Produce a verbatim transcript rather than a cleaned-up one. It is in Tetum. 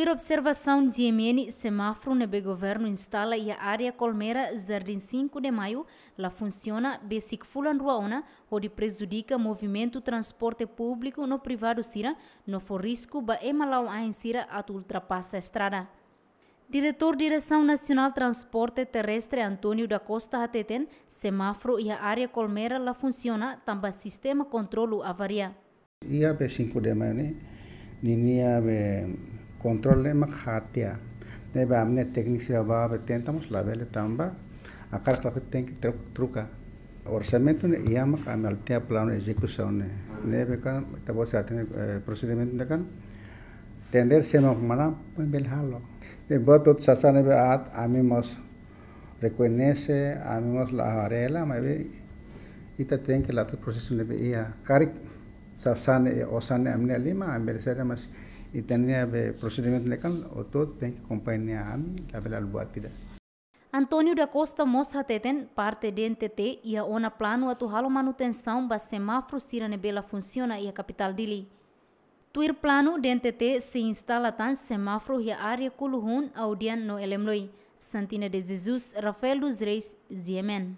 Tuir observasaun G M N, semáforu ne'ebé governu instala iha área Colmera, Jardim cinco de Maio, la funsiona besik fulan rua ona, hodi prejudika movimentu transporte públiku no privadu sira, no fó risku ba ema la'o ain sira atu ultrapasa estrada. Diretór Diresaun Nasionál Transporte Terrestre, António da Costa, hateten, semáforu iha área Colmera la funsiona tanba sistema kontrolu avaria. Iha be cinco de Maio ne'e, ninia be kontrolu ne'e mak hatia. Ne'ebé ami-nia tékniku sira bá be tenta, mas labele tanba hakarak la fó tenke tro-, troka. Orsamentu ne'e iha, mak ami halo tiha planu ezekusaun ne'e. Ne'ebé kan, ita-boot sira hatene, eh, prosedimentu ne'e kan, tender sema mana, pun bele halo. Ne'ebé buat hotu sasán ne'ebé aat, ami mós rekoñese, ami mós la haree hela, maibé ita tenke la'o to'o prosesu ne'ebé iha. Karik sasán ne'e, osan ne'e ami-nia liman, ami bele saida, mas ita-nia be prosedimentu ne'e kan, hotu-hotu tenke kompañia ami, labele halo buat ida. António da Costa mós hateten, parte D N T T iha ona planu atu halo manutensaun ba semáforu sira ne'ebé la funsiona iha kapitál Dili. Tuir planu, D N T T sei instala tan semáforu iha área Kuluhun, Audian no Elemloi. Santina de Jesus, Rafael dos Reis, G M N.